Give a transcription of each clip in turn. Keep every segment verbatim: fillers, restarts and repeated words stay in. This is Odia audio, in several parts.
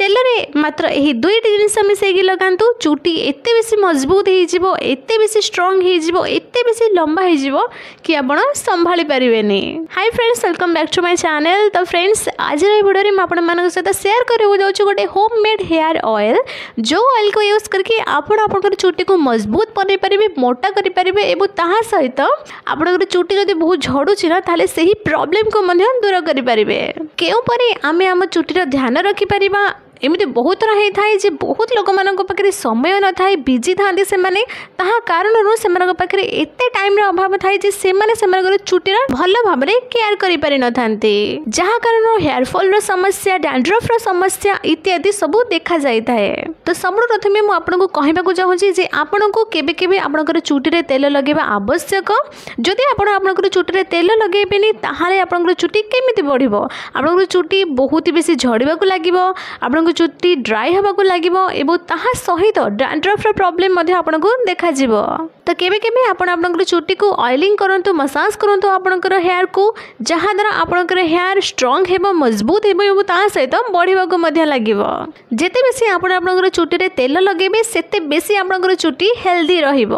ତେଲରେ ମାତ୍ର ଏହି ଦୁଇଟି ଜିନିଷ ମିଶାଇକି ଲଗାନ୍ତୁ ଚୁଟି ଏତେ ବେଶୀ ମଜବୁତ ହେଇଯିବ ଏତେ ବେଶୀ ଷ୍ଟ୍ରଙ୍ଗ ହେଇଯିବ ଏତେ ବେଶୀ ଲମ୍ବା ହେଇଯିବ କି ଆପଣ ସମ୍ଭାଳି ପାରିବେନି Hi friends welcome back to my channel ତ ଫ୍ରେଣ୍ଡସ୍ ଆଜିର ଏହି ଭିଡ଼ିଓରେ ମୁଁ ଆପଣମାନଙ୍କ ସହିତ ସେୟାର କରିବାକୁ ଯାଉଛି ଗୋଟେ ହୋମ୍ ମେଡ୍ ହେୟାର ଅଏଲ୍ ଯେଉଁ ଅଏଲ୍କୁ ୟୁଜ୍ କରିକି ଆପଣ ଆପଣଙ୍କର ଚୁଟିକୁ ମଜବୁତ ବନେଇ ପାରିବେ ମୋଟା କରିପାରିବେ ଏବଂ ତାହା ସହିତ ଆପଣଙ୍କର ଚୁଟି ଯଦି ବହୁତ ଝଡ଼ୁଛି ନା ତାହେଲେ ସେହି ପ୍ରୋବ୍ଲେମକୁ ମଧ୍ୟ ଦୂର କରିପାରିବେ କେଉଁପରି ଆମେ ଆମ ଚୁଟିର ଧ୍ୟାନ ରଖିପାରିବା ଏମିତି ବହୁତ ଥର ହେଇଥାଏ ଯେ ବହୁତ ଲୋକମାନଙ୍କ ପାଖରେ ସମୟ ନଥାଏ ବିଜି ଥାଆନ୍ତି ସେମାନେ ତାହା କାରଣରୁ ସେମାନଙ୍କ ପାଖରେ ଏତେ ଟାଇମ୍ର ଅଭାବ ଥାଏ ଯେ ସେମାନେ ସେମାନଙ୍କର ଚୁଟିର ଭଲ ଭାବରେ କେୟାର କରିପାରିନଥାନ୍ତି ଯାହା କାରଣରୁ ହେୟାର ଫଲ୍ର ସମସ୍ୟା ଡ୍ୟାଣ୍ଡ୍ରଫର ସମସ୍ୟା ଇତ୍ୟାଦି ସବୁ ଦେଖାଯାଇଥାଏ ତ ସବୁଠୁ ପ୍ରଥମେ ମୁଁ ଆପଣଙ୍କୁ କହିବାକୁ ଚାହୁଁଛି ଯେ ଆପଣଙ୍କୁ କେବେ କେବେ ଆପଣଙ୍କର ଚୁଟିରେ ତେଲ ଲଗାଇବା ଆବଶ୍ୟକ ଯଦି ଆପଣ ଆପଣଙ୍କର ଚୁଟିରେ ତେଲ ଲଗାଇବେନି ତାହେଲେ ଆପଣଙ୍କର ଚୁଟି କେମିତି ବଢ଼ିବ ଆପଣଙ୍କର ଚୁଟି ବହୁତ ବେଶୀ ଝଡ଼ିବାକୁ ଲାଗିବ ଆପଣଙ୍କ ଚୁଟି ଡ୍ରାଏ ହେବାକୁ ଲାଗିବ ଏବଂ ତାହା ସହିତ ଡ୍ୟାଣ୍ଡ୍ରଫର ପ୍ରୋବ୍ଲେମ୍ ମଧ୍ୟ ଆପଣଙ୍କୁ ଦେଖାଯିବ ତ କେବେ କେବେ ଆପଣ ଆପଣଙ୍କର ଚୁଟିକୁ ଅଏଲିଂ କରନ୍ତୁ ମସାଜ କରନ୍ତୁ ଆପଣଙ୍କର ହେୟାରକୁ ଯାହାଦ୍ୱାରା ଆପଣଙ୍କର ହେୟାର ଷ୍ଟ୍ରଙ୍ଗ ହେବ ମଜବୁତ ହେବ ଏବଂ ତା ସହିତ ବଢ଼ିବାକୁ ମଧ୍ୟ ଲାଗିବ ଯେତେ ବେଶୀ ଆପଣ ଆପଣଙ୍କର ଚୁଟିରେ ତେଲ ଲଗାଇବେ ସେତେ ବେଶୀ ଆପଣଙ୍କର ଚୁଟି ହେଲ୍ଦି ରହିବ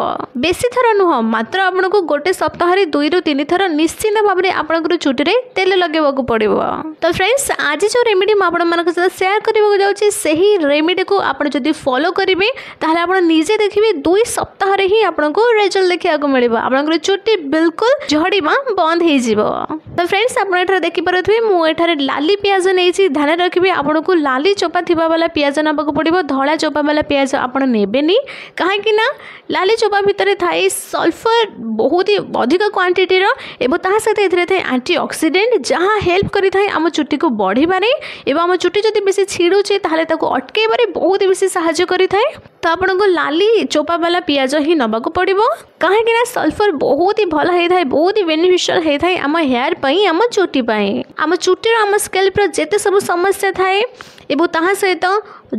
ବେଶୀ ଥର ନୁହଁ ମାତ୍ର ଆପଣଙ୍କୁ ଗୋଟେ ସପ୍ତାହରେ ଦୁଇରୁ ତିନି ଥର ନିଶ୍ଚିନ୍ତ ଭାବରେ ଆପଣଙ୍କର ଚୁଟିରେ ତେଲ ଲଗାଇବାକୁ ପଡ଼ିବ ତ ଫ୍ରେଣ୍ଡସ୍ ଆଜି ଯେଉଁ ରେମିଡ଼ି ମୁଁ ଆପଣମାନଙ୍କ ସହିତ ସେୟାର କରିବାକୁ ଯାଉଛି ସେହି ରେମିଡ଼ିକୁ ଆପଣ ଯଦି ଫଲୋ କରିବେ ତାହେଲେ ଆପଣ ନିଜେ ଦେଖିବେ ଦୁଇ ସପ୍ତାହରେ ହିଁ ଆପଣଙ୍କୁ ରେଜଲ୍ଟ ଦେଖିବାକୁ ମିଳିବ ଆପଣଙ୍କର ଚୁଟି ବିଲକୁଲ ଝଡ଼ିବା ବନ୍ଦ ହେଇଯିବ ତ ଫ୍ରେଣ୍ଡସ୍ ଆପଣ ଏଠାରେ ଦେଖିପାରୁଥିବେ ମୁଁ ଏଠାରେ ଲାଲି ପିଆଜ ନେଇଛି ଧ୍ୟାନ ରଖିବେ ଆପଣଙ୍କୁ ଲାଲି ଚୋପା ଥିବା ବାଲା ପିଆଜ ନେବାକୁ ପଡ଼ିବ ଧଳା ଚୋପା ବାଲା ପିଆଜ ଆପଣ ନେବେନି କାହିଁକି ନା ଲାଲି ଚୋପା ଭିତରେ ଥାଏ ସଲଫର ବହୁତ ହି ଅଧିକ କ୍ୱାଣ୍ଟିଟିର ଏବଂ ତାହା ସହିତ ଏଥିରେ ଥାଏ ଆଣ୍ଟି ଅକ୍ସିଡେଣ୍ଟ ଯାହା ହେଲ୍ପ କରିଥାଏ ଆମ ଚୁଟିକୁ ବଢ଼ିବାରେ ଏବଂ ଆମ ଚୁଟି ଯଦି ବେଶୀ ଛିଡ଼ୁଛି ତାହେଲେ ତାକୁ ଅଟକେଇବାରେ ବହୁତ ବେଶୀ ସାହାଯ୍ୟ କରିଥାଏ ତ ଆପଣଙ୍କୁ ଲାଲି ଚୋପା ବାଲା ପିଆଜ ହିଁ ନେବାକୁ ପଡ଼ିବ କାହିଁକି ନା ସଲଫର ବହୁତ ହି ଭଲ ହେଇଥାଏ ବହୁତ ହି ବେନିଫିସିଆଲ ହେଇଥାଏ ଆମ ହେୟାର ପାଇଁ ଆମ ଚୁଟି ପାଇଁ ଆମ ଚୁଟିର ଆମ ସ୍କେଲ୍ପର ଯେତେ ସବୁ ସମସ୍ୟା ଥାଏ ଏବଂ ତାହା ସହିତ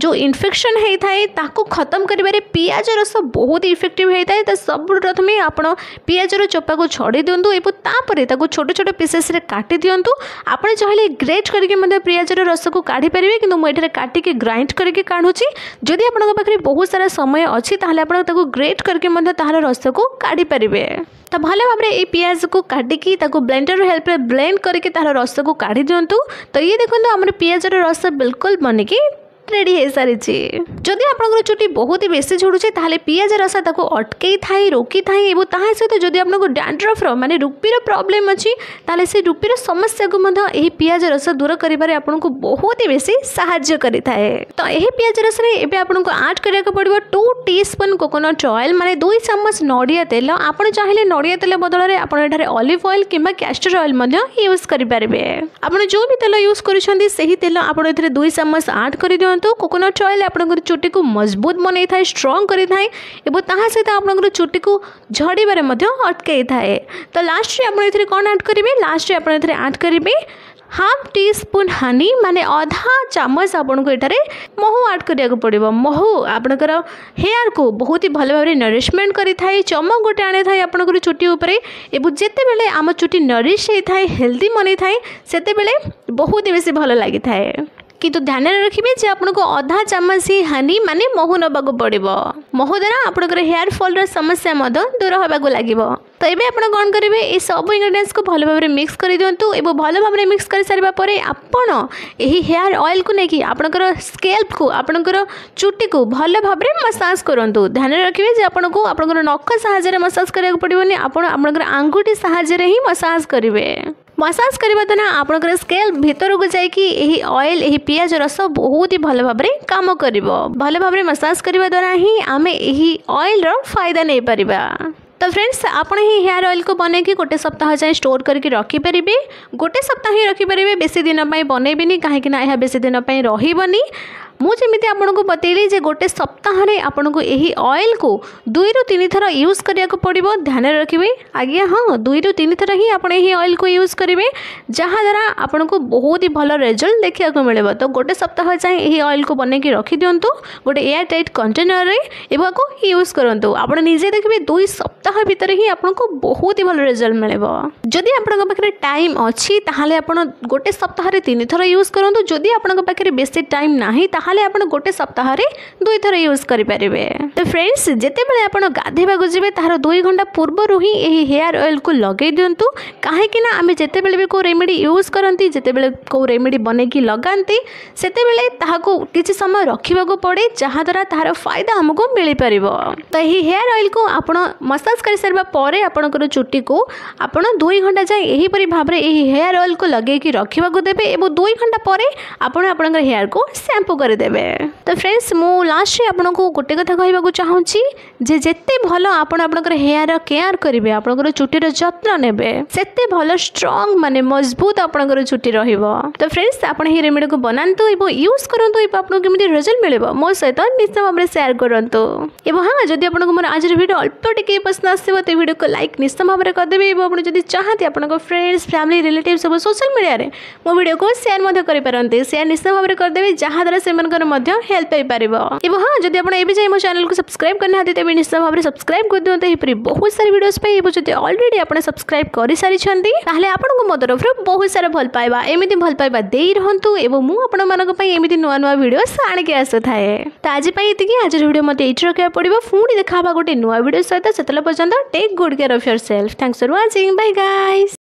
ଯେଉଁ ଇନଫେକ୍ସନ୍ ହେଇଥାଏ ତାକୁ ଖତମ କରିବାରେ ପିଆଜ ରସ ବହୁତ ଇଫେକ୍ଟିଭ୍ ହେଇଥାଏ ତ ସବୁଠୁ ପ୍ରଥମେ ଆପଣ ପିଆଜର ଚୋପାକୁ ଛଡ଼େଇ ଦିଅନ୍ତୁ ଏବଂ ତାପରେ ତାକୁ ଛୋଟ ଛୋଟ ପିସେସ୍ରେ କାଟି ଦିଅନ୍ତୁ ଆପଣ ଚାହିଁଲେ ଗ୍ରେଟ୍ କରିକି ମଧ୍ୟ ପିଆଜର ରସକୁ କାଢ଼ିପାରିବେ କିନ୍ତୁ ମୁଁ ଏଠାରେ କାଟିକି ଗ୍ରାଇଣ୍ଡ କରିକି କାଢ଼ୁଛି ଯଦି ଆପଣଙ୍କ ପାଖରେ ବହୁତ ସାରା ସମୟ ଅଛି ତାହେଲେ ଆପଣ ତାକୁ ଗ୍ରେଟ୍ କରିକି ମଧ୍ୟ ତାହାର ରସକୁ କାଢ଼ିପାରିବେ ତ ଭଲ ଭାବରେ ଏଇ ପିଆଜକୁ କାଟିକି ତାକୁ ବ୍ଲେଣ୍ଡର ହେଲ୍ପରେ ବ୍ଲେଣ୍ଡ କରିକି ତାହାର ରସକୁ କାଢ଼ି ଦିଅନ୍ତୁ ତ ଇଏ ଦେଖନ୍ତୁ ଆମର ପିଆଜର ରସ ବିଲକୁଲ ବନିକି ରେଡ଼ି ହେଇସାରିଛି ଯଦି ଆପଣଙ୍କର ଚୁଟି ବହୁତ ବେଶୀ ଝଡ଼ୁଛି ତାହେଲେ ପିଆଜ ରସ ତାକୁ ଅଟକେଇ ଥାଏ ରୋକିଥାଏ ଏବଂ ତାହା ସହିତ ଯଦି ଆପଣଙ୍କୁ ଡ୍ୟାଣ୍ଡ୍ରଫର ମାନେ ରୁପିର ପ୍ରୋବ୍ଲେମ୍ ଅଛି ତାହେଲେ ସେ ରୁପିର ସମସ୍ୟାକୁ ମଧ୍ୟ ଏହି ପିଆଜ ରସ ଦୂର କରିବାରେ ଆପଣଙ୍କୁ ବହୁତ ବେଶୀ ସାହାଯ୍ୟ କରିଥାଏ ତ ଏହି ପିଆଜ ରସରେ ଏବେ ଆପଣଙ୍କୁ ଆଡ଼୍ କରିବାକୁ ପଡ଼ିବ two tea spoon coconut oil ମାନେ ଦୁଇ ଚାମଚ ନଡ଼ିଆ ତେଲ ଆପଣ ଚାହିଁଲେ ନଡ଼ିଆ ତେଲ ବଦଳରେ ଆପଣ ଏଠାରେ ଅଲିଭ୍ ଅଏଲ୍ କିମ୍ବା କ୍ୟାଷ୍ଟର ଅଏଲ୍ ମଧ୍ୟ ୟୁଜ୍ କରିପାରିବେ ଆପଣ ଯେଉଁ ବି ତେଲ ୟୁଜ୍ କରୁଛନ୍ତି ସେହି ତେଲ ଆପଣ ଏଥିରେ ଦୁଇ ଚାମଚ ଆଡ଼୍ କରିଦିଅନ୍ତୁ କୋକୋନଟ୍ ଅଏଲ୍ ଆପଣଙ୍କର ଚୁଟିକୁ ମଜବୁତ ବନେଇଥାଏ ଷ୍ଟ୍ରଙ୍ଗ କରିଥାଏ ଏବଂ ତାହା ସହିତ ଆପଣଙ୍କର ଚୁଟିକୁ ଝଡ଼ିବାରେ ମଧ୍ୟ ଅଟକେଇଥାଏ ତ ଲାଷ୍ଟରେ ଆପଣ ଏଥିରେ କ'ଣ ଆଡ଼୍ କରିବେ ଲାଷ୍ଟରେ ଆପଣ ଏଥିରେ ଆଡ଼୍ କରିବେ ହାଫ୍ ଟି ସ୍ପୁନ୍ ହନି ମାନେ ଅଧା ଚାମଚ ଆପଣଙ୍କୁ ଏଠାରେ ମହୁ ଆଡ଼୍ କରିବାକୁ ପଡ଼ିବ ମହୁ ଆପଣଙ୍କର ହେୟାରକୁ ବହୁତ ହି ଭଲ ଭାବରେ ନରିଶମେଣ୍ଟ କରିଥାଏ ଚମକ ଗୋଟେ ଆଣିଥାଏ ଆପଣଙ୍କର ଚୁଟି ଉପରେ ଏବଂ ଯେତେବେଳେ ଆମ ଚୁଟି ନରିଶ ହେଇଥାଏ ହେଲ୍ଦି ବନେଇଥାଏ ସେତେବେଳେ ବହୁତ ବେଶୀ ଭଲ ଲାଗିଥାଏ କିନ୍ତୁ ଧ୍ୟାନରେ ରଖିବେ ଯେ ଆପଣଙ୍କୁ ଅଧା ଚାମଚ ହିଁ ହନି ମାନେ ମହୁ ନେବାକୁ ପଡ଼ିବ ମହୁ ଦ୍ୱାରା ଆପଣଙ୍କର ହେୟାର ଫଲ୍ର ସମସ୍ୟା ମଧ୍ୟ ଦୂର ହେବାକୁ ଲାଗିବ ତ ଏବେ ଆପଣ କ'ଣ କରିବେ ଏ ସବୁ ଇନଗ୍ରିଡ଼ିଏଣ୍ଟସକୁ ଭଲ ଭାବରେ ମିକ୍ସ କରିଦିଅନ୍ତୁ ଏବଂ ଭଲ ଭାବରେ ମିକ୍ସ କରିସାରିବା ପରେ ଆପଣ ଏହି ହେୟାର ଅଏଲ୍କୁ ନେଇକି ଆପଣଙ୍କର ସ୍କେଲ୍ପକୁ ଆପଣଙ୍କର ଚୁଟିକୁ ଭଲ ଭାବରେ ମସାଜ କରନ୍ତୁ ଧ୍ୟାନରେ ରଖିବେ ଯେ ଆପଣଙ୍କୁ ଆପଣଙ୍କର ନଖ ସାହାଯ୍ୟରେ ମସାଜ କରିବାକୁ ପଡ଼ିବନି ଆପଣ ଆପଣଙ୍କର ଆଙ୍ଗୁଠି ସାହାଯ୍ୟରେ ହିଁ ମସାଜ କରିବେ ମସାଜ କରିବା ଦ୍ୱାରା ଆପଣଙ୍କର ସ୍କେଲ୍ପ ଭିତରକୁ ଯାଇକି ଏହି ଅଏଲ୍ ଏହି ପିଆଜ ରସ ବହୁତ ହି ଭଲ ଭାବରେ କାମ କରିବ ଭଲ ଭାବରେ ମସାଜ କରିବା ଦ୍ୱାରା ହିଁ ଆମେ ଏହି ଅଏଲ୍ର ଫାଇଦା ନେଇପାରିବା ତ ଫ୍ରେଣ୍ଡସ୍ ଆପଣ ଏହି ହେୟାର ଅଏଲ୍କୁ ବନେଇକି ଗୋଟେ ସପ୍ତାହ ଯାଏଁ ଷ୍ଟୋର୍ କରିକି ରଖିପାରିବେ ଗୋଟେ ସପ୍ତାହ ହିଁ ରଖିପାରିବେ ବେଶୀ ଦିନ ପାଇଁ ବନେଇବେନି କାହିଁକି ନା ଏହା ବେଶୀ ଦିନ ପାଇଁ ରହିବନି ମୁଁ ଯେମିତି ଆପଣଙ୍କୁ ବତେଇଲି ଯେ ଗୋଟେ ସପ୍ତାହରେ ଆପଣଙ୍କୁ ଏହି ଅଏଲ୍କୁ ଦୁଇରୁ ତିନି ଥର ୟୁଜ୍ କରିବାକୁ ପଡ଼ିବ ଧ୍ୟାନରେ ରଖିବେ ଆଜ୍ଞା ହଁ ଦୁଇରୁ ତିନି ଥର ହିଁ ଆପଣ ଏହି ଅଏଲ୍କୁ ୟୁଜ୍ କରିବେ ଯାହାଦ୍ୱାରା ଆପଣଙ୍କୁ ବହୁତ ହି ଭଲ ରେଜଲ୍ଟ ଦେଖିବାକୁ ମିଳିବ ତ ଗୋଟେ ସପ୍ତାହ ଯାଏଁ ଏହି ଅଏଲ୍କୁ ବନେଇକି ରଖିଦିଅନ୍ତୁ ଗୋଟେ ଏୟାର ଟାଇଟ୍ କଣ୍ଟେନରରେ ଏବଂ ଆକୁ ୟୁଜ୍ କରନ୍ତୁ ଆପଣ ନିଜେ ଦେଖିବେ ଦୁଇ ସପ୍ତାହ ଭିତରେ ହିଁ ଆପଣଙ୍କୁ ବହୁତ ହି ଭଲ ରେଜଲ୍ଟ ମିଳିବ ଯଦି ଆପଣଙ୍କ ପାଖରେ ଟାଇମ୍ ଅଛି ତାହେଲେ ଆପଣ ଗୋଟେ ସପ୍ତାହରେ ତିନି ଥର ୟୁଜ୍ କରନ୍ତୁ ଯଦି ଆପଣଙ୍କ ପାଖରେ ବେଶୀ ଟାଇମ୍ ନାହିଁ ତାହେଲେ ତାହେଲେ ଆପଣ ଗୋଟେ ସପ୍ତାହରେ ଦୁଇଥର ୟୁଜ୍ କରିପାରିବେ। ତ ଫ୍ରେଣ୍ଡସ୍, ଯେତେବେଳେ ଆପଣ ଗାଧୋଇବାକୁ ଯିବେ, ତାହାର ଦୁଇ ଘଣ୍ଟା ପୂର୍ବରୁ ହିଁ ଏହି ହେୟାର ଅଏଲ୍କୁ ଲଗାଇ ଦିଅନ୍ତୁ, କାହିଁକି ନା ଆମେ ଯେତେବେଳେ ବି କେଉଁ ରେମିଡ଼ି ୟୁଜ୍ କରନ୍ତି, ଯେତେବେଳେ କେଉଁ ରେମିଡ଼ି ବନେଇକି ଲଗାନ୍ତି, ସେତେବେଳେ ତାହାକୁ କିଛି ସମୟ ରଖିବାକୁ ପଡ଼େ, ଯାହାଦ୍ୱାରା ତାହାର ଫାଇଦା ଆମକୁ ମିଳିପାରିବ। ତ ଏହି ହେୟାର ଅଏଲ୍କୁ ଆପଣ ମସାଜ କରିସାରିବା ପରେ ଆପଣଙ୍କର ଚୁଟିକୁ ଆପଣ ଦୁଇ ଘଣ୍ଟା ଯାଏଁ ଏହିପରି ଭାବରେ ଏହି ହେୟାର ଅଏଲ୍କୁ ଲଗେଇକି ରଖିବାକୁ ଦେବେ ଏବଂ ଦୁଇ ଘଣ୍ଟା ପରେ ଆପଣ ଆପଣଙ୍କର ହେୟାରକୁ ଶ୍ୟାମ୍ପୁ କରିଦେବେ। ତ ଫ୍ରେଣ୍ଡସ୍, ମୁଁ ଲାଷ୍ଟରେ ଆପଣଙ୍କୁ ଗୋଟେ କଥା କହିବାକୁ ଚାହୁଁଛି ଯେ ଯେତେ ଭଲ ଆପଣ ଆପଣଙ୍କର ହେୟାର କେୟାର କରିବେ, ଆପଣଙ୍କର ଚୁଟିର ଯତ୍ନ ନେବେ, ସେତେ ଭଲ ଷ୍ଟ୍ରଙ୍ଗ ମାନେ ମଜବୁତ ଆପଣଙ୍କର ଚୁଟି ରହିବ। ତ ଫ୍ରେଣ୍ଡସ୍, ଆପଣ ଏହି ରେମିଡ଼ିକୁ ବନାନ୍ତୁ ଏବଂ ୟୁଜ୍ କରନ୍ତୁ ଏବଂ ଆପଣଙ୍କୁ କେମିତି ରେଜଲ୍ଟ ମିଳିବ ମୋ ସହିତ ନିଶ୍ଚୟ ଭାବରେ ସେୟାର କରନ୍ତୁ। ଏବଂ ହଁ, ଯଦି ଆପଣଙ୍କୁ ମୋର ଆଜିର ଭିଡ଼ିଓ ଅଳ୍ପ ଟିକେ ପସନ୍ଦ ଆସିବ, ତ ଭିଡ଼ିଓକୁ ଲାଇକ୍ ନିଶ୍ଚୟ ଭାବରେ କରିଦେବେ ଏବଂ ଆପଣ ଯଦି ଚାହାନ୍ତି, ଆପଣଙ୍କ ଫ୍ରେଣ୍ଡସ୍, ଫ୍ୟାମିଲି, ରିଲେଟିଭ୍ ସବୁ ସୋସିଆଲ ମିଡ଼ିଆରେ ମୋ ଭିଡ଼ିଓକୁ ସେୟାର ମଧ୍ୟ କରିପାରନ୍ତି। ସେୟାର ନିଶ୍ଚୟ ଭାବରେ କରିଦେବେ, ଯାହାଦ୍ୱାରା ସେମାନଙ୍କର ମଧ୍ୟ ହେଲ୍ପ ହେଇପାରିବ। ଏବଂ ହଁ, ଯଦି ଆପଣ ଏବେ ଯାଇ ମୋ ଚ୍ୟାନେଲକୁ ସବସ୍କ୍ରାଇବ୍ କରିନାହାନ୍ତି, ତେବେ ନିଶ୍ଚୟ ଭାବରେ ସବସ୍କ୍ରାଇବ୍ କରିଦିଅନ୍ତୁ ଏହିପରି ବହୁତ ସାରା ଭିଡ଼ିଓସ୍ ପାଇଁ। ଏବଂ ଯଦି ଅଲରେଡ଼ି ଆପଣ ସବସ୍କ୍ରାଇବ୍ କରିସାରିଛନ୍ତି, ତାହେଲେ ଆପଣଙ୍କୁ ମୋ ତରଫରୁ ବହୁତ ସାରା ଭଲ ପାଇବା। ଏମିତି ଭଲ ପାଇବା ଦେଇ ରୁହନ୍ତୁ ଏବଂ ମୁଁ ଆପଣମାନଙ୍କ ପାଇଁ ଏମିତି ନୂଆ ନୂଆ ଭିଡ଼ିଓସ୍ ଆଣିକି ଆସୁଥାଏ। ତ ଆଜି ପାଇଁ ଏତିକି। ଆଜିର ଭିଡ଼ିଓ ମୋତେ ଏଇଠି ରଖିବାକୁ ପଡ଼ିବ। ପୁଣି ଦେଖା ହେବା ଗୋଟେ ନୂଆ ଭିଡ଼ିଓ ସହିତ। ସେତେବେଳେ ପର୍ଯ୍ୟନ୍ତ take good care of yourself. Thanks for watching. Bye guys.